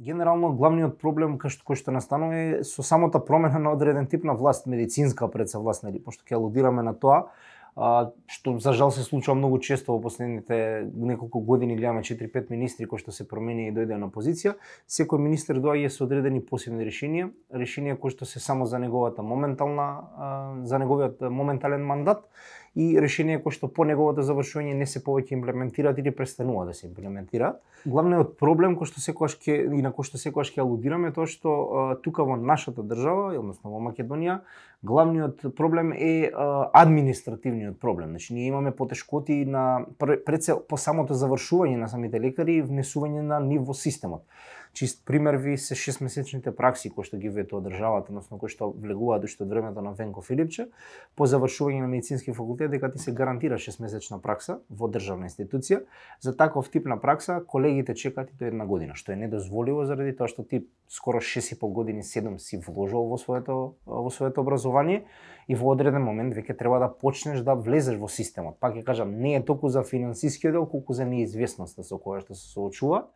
Генерално главниот проблем кој што настанува е со самата промена на одреден тип на власт, медицинска предса власт, нели, пошто ќе алудираме на тоа, што за жал се случува многу често во последните неколку години, гледаме 4-5 министри кои што се промени и дојде на позиција, секој министер доаѓа со одредени посебни решенија кои што се само за неговата за неговиот моментален мандат и решенија кои што по неговото завршување не се повеќе имплементираат или престануваат да се имплементираат. Главниот проблем кој што секогаш ќе алудираме е тоа што тука во нашата држава, односно во Македонија, главниот проблем е административниот проблем. Значи ние имаме потешкоти пред се по самото завршување на самите лекари и внесување на нив во системот. Чист пример ви се 6-месечните пракси кои што ги ветува државата, односно кои што влегуваат уште од времето на Венко Филипче, по завршување на медицински факултет дека ти се гарантира 6-месечна пракса во државна институција. За таков тип на пракса колегите чекаат и до 1 година, што е недозволиво заради тоа што ти скоро 6,5 години, 7 си вложил во своето образование и во одреден момент веќе треба да почнеш да влезеш во системот. Пак ќе кажам, не е толку за финансискиот дел, колку за неизвестноста со која што се соочува.